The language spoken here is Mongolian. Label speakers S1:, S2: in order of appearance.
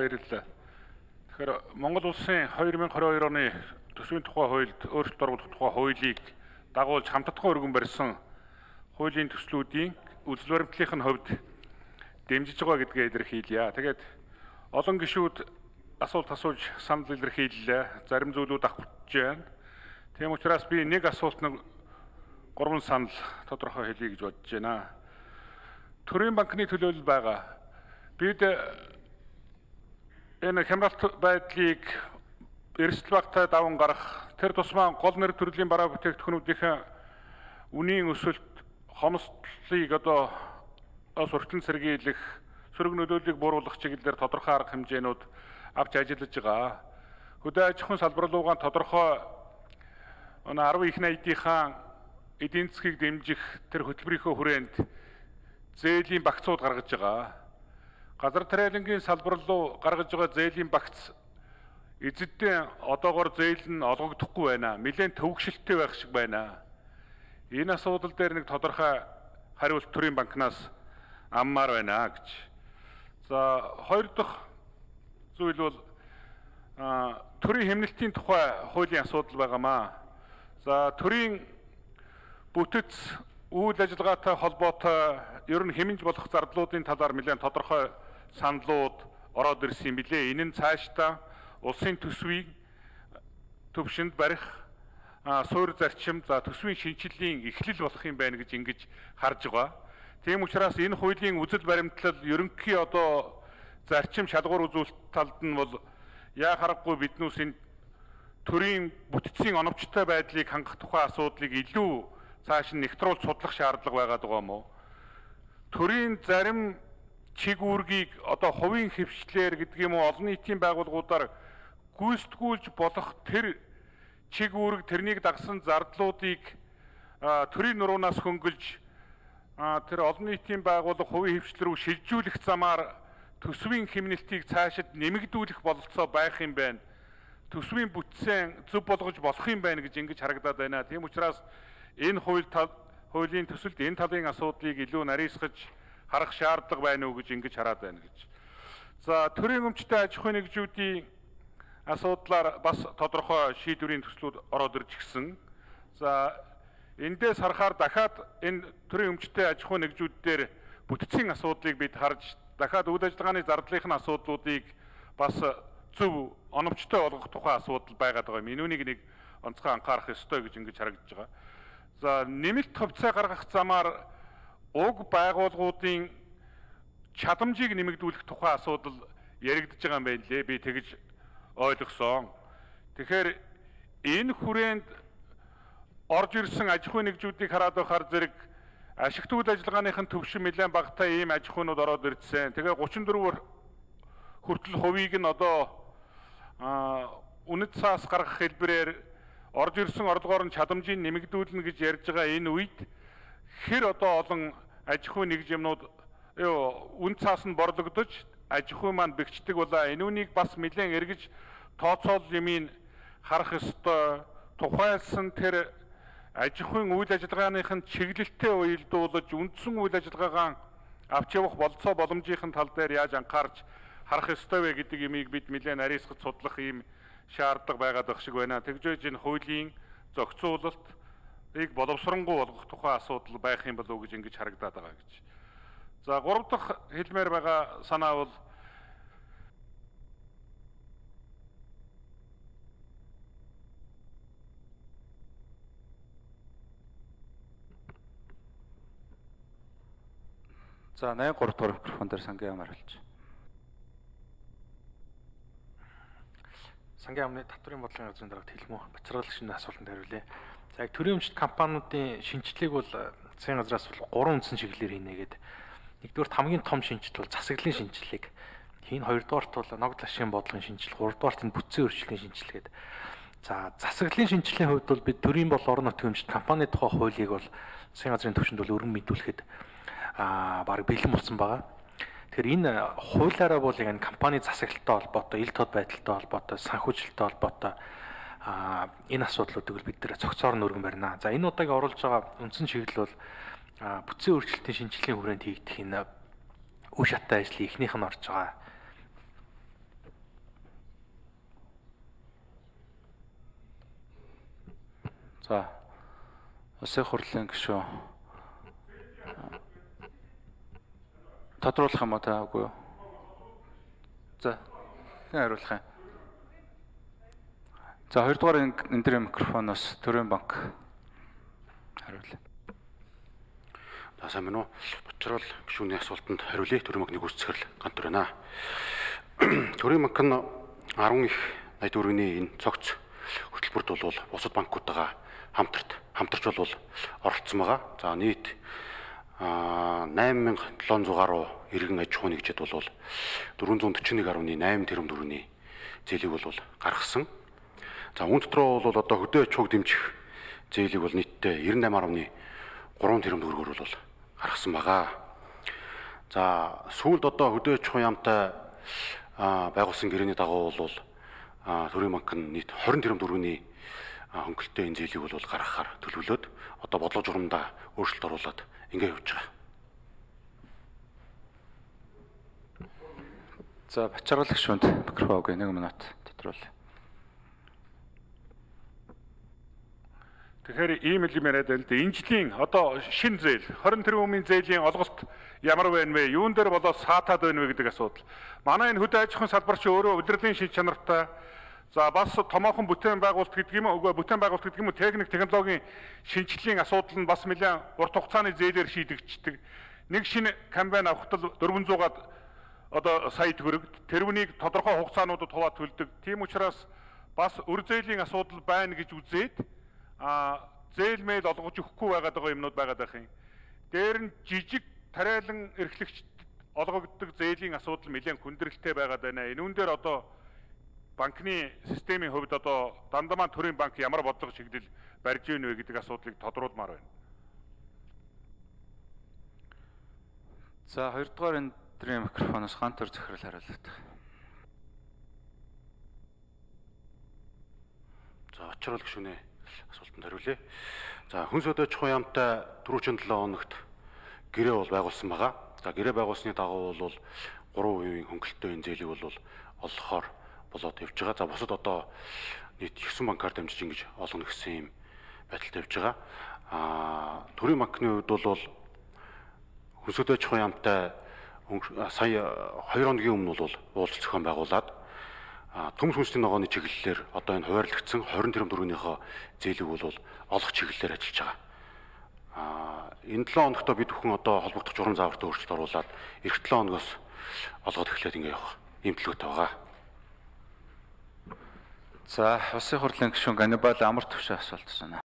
S1: баярлалаа. Тэгэхээр Монгол улсын 2022 оны төсвийн тухай хуульд өөрчлөлт оруулах тухай хуулийг дагуулж хамтдаггүй өргөн барьсан хуулийн төслүүдийн үзэл баримтлалын хувьд дэмжиж байгаа гэдгээ илэрхийлье. Тэгээд олон гишүүд асуулт асууж санал илэрхийллээ. Зарим зүйлүүд авчиж байна. Тийм учраас би нэг асуултанд 3 санал тодорхой хэлье гэж бодож байна. Төрийн банкны төлөөлөл байгаа. Бид энэ хямралт байдлыг эрсдэл багтаа даван гарах, тэр тусмаа гол нэр төрлийн бараа бүтээгдэхүүнүүдийн үнийн өсөлт, хомсдлыг сурталчилан сэргийлэх, сөрөг нөлөөллийг бууруулах чиглэлээр тодорхой арга хэмжээнүүд авч ажиллаж байгаа. Хөдөө аж ахуйн салбар руугаа тодорхой 10 их найдынхаа эдийн засгийг дэмжих тэр хөтөлбөрийнхөө хүрээнд зээлийн багцууд гаргаж байгаа. Газар тариалангийн салбар руу гаргаж байгаа зээлийн багц эзэддээ одоогоор зээл нь олгогдохгүй байна. Нэлээд төвөгшөлттэй байх шиг байна. Энэ асуудал дээр нэг тодорхой хариулт төрийн банкнаас аммаар байна гэж. За хоёр дахь зүйл бол төрийн хэмнэлтийн тухай хуулийн асуудал байгаамаа. За төрийн бүтэц үйл ажиллагаатай холбоотой ер нь хэмнэж болох зардлуудын талаар нэлээд тодорхой саналууд ороод ирсэн юм билээ. Энэ нь цаашдаа улсын төсвийг төвшөнд барих суурь зарчим, за төсвийн шинжиллийн эхлэл болох юм байна гэж ингэж харж байгаа. Тийм учраас энэ хуулийн үзэл баримтлал ерөнхий зарчим шалгуур үзүүлэлт талд нь бол яа харахгүй биднээс энэ төрийн бүтцийн оновчтой байдлыг хангах тухай асуудлыг илүү цааш нь нэгтруулж судлах шаардлага байгаад байгаа юм уу? Төрийн зарим чиг үүргийг хувийн хэвшлэр гэдэг юм уу олон нийтийн байгууллагуудаар гүйцэтгүүлж болох тэр чиг үүрэг, тэрнийг дагсан зардлуудыг төрийн нуруунаас хөнгөлж тэр олон нийтийн байгууллага хувийн хэвшлэр рүү шилжүүлэх замаар төсвийн хэмнэлтийг цаашид нэмэгдүүлэх бололцоо байх юм байна. Төсвийн бүтцээ зөв болгож болох юм байна гэж ингэж харагдаад байна. Тийм учраас энэ хуулийн төсөлд энэ талын асуудлыг илүү нарийсгаж харах шаардлага байна уу гэж ингэж хараад байна гэж. За төрийн өмчтэй аж ахуйн нэгжүүдийн асуудлаар бас тодорхой шийдвэрийн төслүүд ороод ирж гисэн. За эндээс харахаар дахиад энэ төрийн өмчтэй аж ахуйн нэгжүүд дээр бүтцийн асуудлыг бид харж дахиад үйл ажиллагааны зардлынхын асуудлуудыг бас зөв оновчтой болгох тухай асуудал байгаад байгаа юм. Энүүнийг нэг онцгой анхаарах ёстой гэж ингэж харагдаж байгаа. За нэмэлт хувьцаа гаргах замаар уг байгууллагуудын чадамжийг нэмэгдүүлэх тухай асуудал яригдж байгаа юм байна лээ. Би тэгж ойлгосон. Тэгэхээр энэ хүрээнд орж ирсэн аж ахуйн нэгжүүдийг хараад байхаар зэрэг ашигт үйл ажиллагааныхын төвшин нэлээд багатай ийм аж ахуйнууд ороод ирсэн. Тэгээ 34 хүртэл хувийг нь үнэт цаас гаргах хэлбэрээр орж ирсэн орлогоор нь чадамжийг нэмэгдүүлнэ гэж ярьж байгаа энэ үед хэр олон аж ахуйн нэгжмнүүд үн цаас нь борлогдож аж ахуй маань бэгчдэг болоо. Энүүнийг бас нэлээд эргэж тооцоол юмыг харах ёстой. Тухайлсан тэр аж ахуйн үйл ажиллагааныхын чиглэлтэй уялдуулж үндсэн үйл ажиллагаагаа авч явах болцоо боломжийн тал дээр яаж анхаарч харах ёстой вэ гэдэг юмыг бид нэлээд нарийсгаж судлах ийм шаардлага байгаад байх шиг байна. Тэгж энэ хуулийн зохицуулалтыг боловсронгуй болгох тухай асуудал байх юм болов уу гэж ингэж харагдаад байгаа гэж. За 3 дахь хэлмээр байгаа санаа бол
S2: за 83 дахь микрофон дээр сангийн ам хариулж.
S3: Сангийн амны татврын бодлогын газрын дарагт хэлмүү бачиргалах шинэ асуултанд хариулъя. За яг төрийн өмчт компаниудын шинжилгээг бол засгийн газраас бол 3 үндсэн чиглэлээр хийнэ гэдэг. Нэгдүгээрт хамгийн том шинжил бол засаглалын шинжилгээг хийн, хоёрдугаарт бол ногд ашигын бодлогын шинжилгээ, гуравдугаарт нь бүтцийн өөрчлөлийн шинжилгээд. За засаглалын шинжилгээний хувьд бол бид төрийн бол орон нутгийн өмчт компани тухай хуулийг бол засгийн газрын төвшөнд бол өргөн мэдүүлэхэд баг бэлэн болсон байгаа. Тэгэхээр энэ хуулиараа бол яг компани засаглалтай холбоотой, ил тод байдалтай холбоотой, санхүүжилттэй холбоотой энэ асуудлуудыг бид нэр цогцоор нь өргөн барина. За энэ удаагийн оруулж байгаа үндсэн чиглэл бол бүтцийн өөрчлөлтийн шинжилгээний хүрээнд хийгдэх энэ үе шаттай ажлын эхнийх нь орж байгаа.
S2: За Улсын хурлын гишүүн тодруулах юм уу та үгүй юу? За хэн хариулах юм? За хоёрдугаар энэ дээр микрофоноос Төрийн банк хариулъя.
S4: За сайн байна уу? Бочрол гишүүний асуултанд хариулъя. Төрийн банкны гүйцэтгэл Гантүр байна. Төрийн банк нь 10 их 84-ний энэ цогц хөтөлбөрт бол бусад банкуудаа хамтарч бол оролцсон байгаа. За нийт 8700 гаруй иргэн аж ахуйн нэгжид бол 441.8 тэрбум төгрөгийн зээлийг бол гаргасан. За үүн дотроо бол одоо хөдөө аж ахуйг дэмжих зээлийг бол нийтдээ 98.3 тэрбум төгрөгөөр бол гаргасан байгаа. За сүүлд одоо хөдөө аж ахуйн яамтай байгуулсан гэрээний дагуу бол Төрийн банк нь нийт 20 тэрбум төгрөгийн хөнгөлөлтөө энэ зээлийг бол гаргахаар төлөвлөд одоо бодлого журамдаа өөрчлөлт оруулад ингэ явж байгаа.
S2: За Бачаргал гишүүнд микрофон өгье. 1 минут тодруулъя.
S1: Тэгэхээр ийм л юм яриад байл да. Энэ жилийн одоо шинэ зээл 20 тэрбумын зээлийн олголт ямар байна вэ? Юун дээр болоод саатаад байна вэ гэдэг асуудал. Манай энэ хөдөө аж ахуйн салбар чи өөрөө удирдлагын шин чанартай. За бас томоохон бүтээн байгуулалт гэдэг юм уу? Бүтээн байгуулалт гэдэг юм уу? Техник технологийн шинжилгээний асуудал нь бас нэлээд урт хугацааны зээлээр шийдэгддэг. Нэг шинэ камбайн авахтал 400-аад одоо сая төгрөг тэрвнийг тодорхой хугацаануудад хуваад төлдөг. Тийм учраас бас өр зээлийн асуудал байна гэж үзээд зээл мэйл олгож өгөхгүй байгаад байгаа юмнууд байгаад байх юм. Дээр нь жижиг тариалан эрхлэгчд олгогддог зээлийн асуудал нэлээд хүндрэлтэй байгаад байна. Энэ үн дээр одоо банкны системийн хувьд одоо Дандамаа Төрийн банк ямар бодлого чиглэл барьж ийн вэ гэдэг асуудлыг тодруулмаар байна.
S2: За хоёрдугаар энэ төрлийн микрофоноос Гантүр захирал хариулт.
S4: За очрол гишүүний асуултанд хариулъя. За хүн сөдөө аж ахуйн яамтай түрүүчийн 7 хоногт гэрээ бол байгуулсан байгаа. За гэрээ байгуулсны дагуу бол 3% хөнгөлөлтөө энэ зээлийг бол олгохоор болоод явж байгаа. За бусад одоо нийт 9 банкар дамжиж ингэж олгоно гэсэн юм байдалтай явж байгаа. Төрийн банкны хувьд бол хүн сөдөө аж ахуйн яамтай сая 2 хоногийн өмнө бол уулзалт зохион байгуулад төмс хүнсний ногооны чиглэлээр одоо энэ хуваарлагдсан 20 тэрбум төгрөгийнхөө зээлийг бол олох чиглэлээр ажиллаж байгаа. Энэ 7 хоногт бид бүхэн одоо холбогдох журам зааварт өөрчлөлт оруулад эх 7 хоногоос олгоод эхлээд ингэ явах юм төлөвтэй байгаа.
S2: За Улсын хурлын гишүүн Ганнибал амар төвшөө асуулт байна.